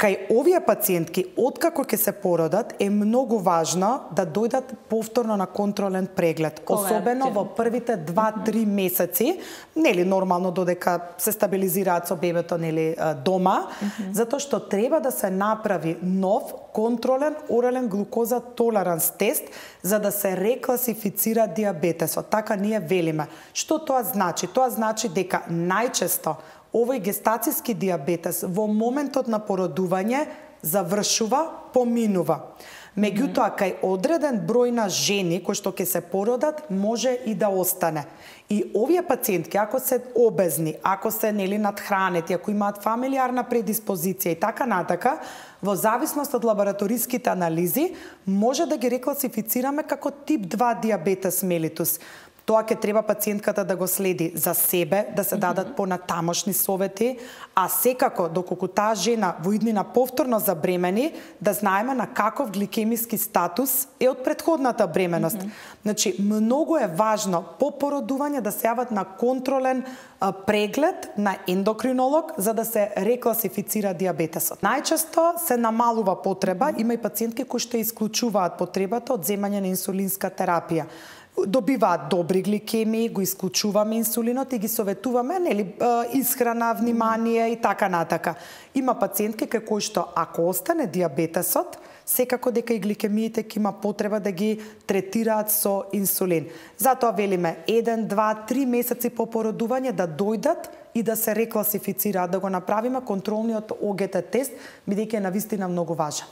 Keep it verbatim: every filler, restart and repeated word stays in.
Кај овие пациентки, откако ќе се породат, е многу важно да дојдат повторно на контролен преглед, особено во првите два-три месеци, нели нормално додека се стабилизираат со бебето, нели дома, затоа што треба да се направи нов контролен орален глукоза толеранс тест за да се рекласифицира диабетесот. Така ние велиме. Што тоа значи? Тоа значи дека најчесто овој гестацијски диабетес во моментот на породување завршува, поминува. Меѓутоа, кај одреден број на жени кои што ќе се породат, може и да остане. И овие пациентки, ако се обезни, ако се нели надхранети, ако имаат фамилиарна предиспозиција и така натака, во зависност од лабораториските анализи, може да ги рекласифицираме како тип два диабетес мелитус. Тоа ќе треба пациентката да го следи за себе, да се дадат понатамошни совети, а секако, доколку таа жена во иднина повторно забремени, да знаеме на каков гликемиски статус е од претходната бременост. Mm -hmm. Значи, многу е важно по породување да се јават на контролен а, преглед на ендокринолог за да се рекласифицира диабетесот. Најчесто се намалува потреба, mm -hmm. има и пациентки кои што исклучуваат потребата од земање на инсулинска терапија. Добиваат добри гликемии, го исклучуваме инсулинот и ги советуваме, нели, исхрана, внимание и така натака. Има пациентки кај кои што ако остане диабетесот, секако дека и гликемиите ќе има потреба да ги третираат со инсулин. Затоа велиме еден, два, три месеци по породување да дојдат и да се рекласифицираат, да го направиме контролниот О Г Т тест, бидејќи е навистина многу важен.